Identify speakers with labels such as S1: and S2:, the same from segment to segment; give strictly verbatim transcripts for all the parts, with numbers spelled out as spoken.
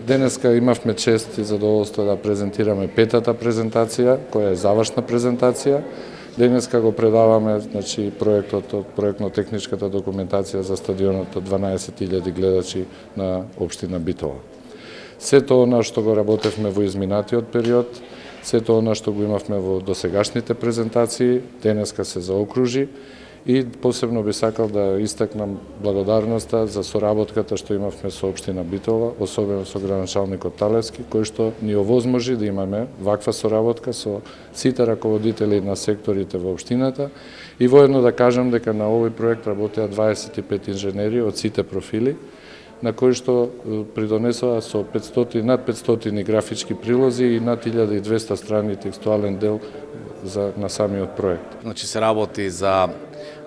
S1: Денеска имавме чест и задоволство да презентираме петата презентација, која е завршна презентација. Денеска го предаваме, значи, проектот од проектно-техничката документација за стадионот од дванаесет илјади гледачи на општина Битола. Сето она што го работевме во изминатиот период, сето она што го имавме во досегашните презентации, денеска се заокружи и посебно би сакал да истакнам благодарноста за соработката што имавме со општина Битола, особено со градоначалникот Талевски, кој што ни овозможи да имаме ваква соработка со сите раководители на секторите во општината и воедно да кажам дека на овој проект работеа дваесет и пет инженери од сите профили, на кои што придонесоа со петстотини, над петстотини графички прилози и над илјада и двесте страни текстуален дел за на самиот проект.
S2: Значи се работи за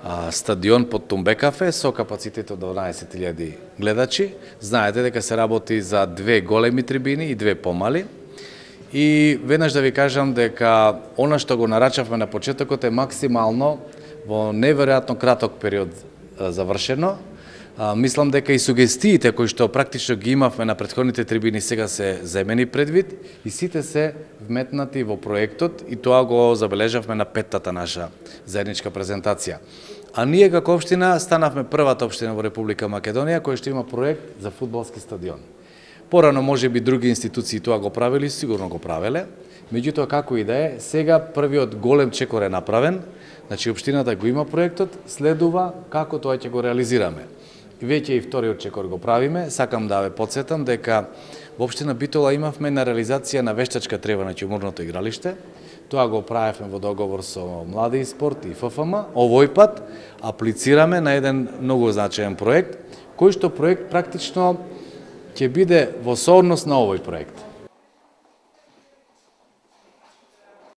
S2: а, стадион под Тумбе кафе со капацитет од дванаесет илјади гледачи. Знаете дека се работи за две големи трибини и две помали. И веднаш да ви кажам дека она што го нарачавме на почетокот е максимално во неверојатно краток период а, завршено. А, мислам дека и сугестиите кои што практично ги имавме на претходните трибини сега се земени предвид и сите се вметнати во проектот и тоа го забележавме на петтата наша заедничка презентација. А ние како општина станавме првата општина во Република Македонија која што има проект за фудбалски стадион. Порано можеби други институции тоа го правели, сигурно го правеле, меѓутоа како и да е, сега првиот голем чекор е направен, значи општината го има проектот, следува како тоа ќе го реализираме. Веќе и вториот чекор го правиме. Сакам да ве потсетам дека во општина Битола имавме на реализација на вештачка трева на уморното игралиште. Тоа го правевме во договор со Млади и спорт и Ф Ф М. Овој пат аплицираме на еден многу значаен проект, кој што проект практично ќе биде во сооднос на овој проект.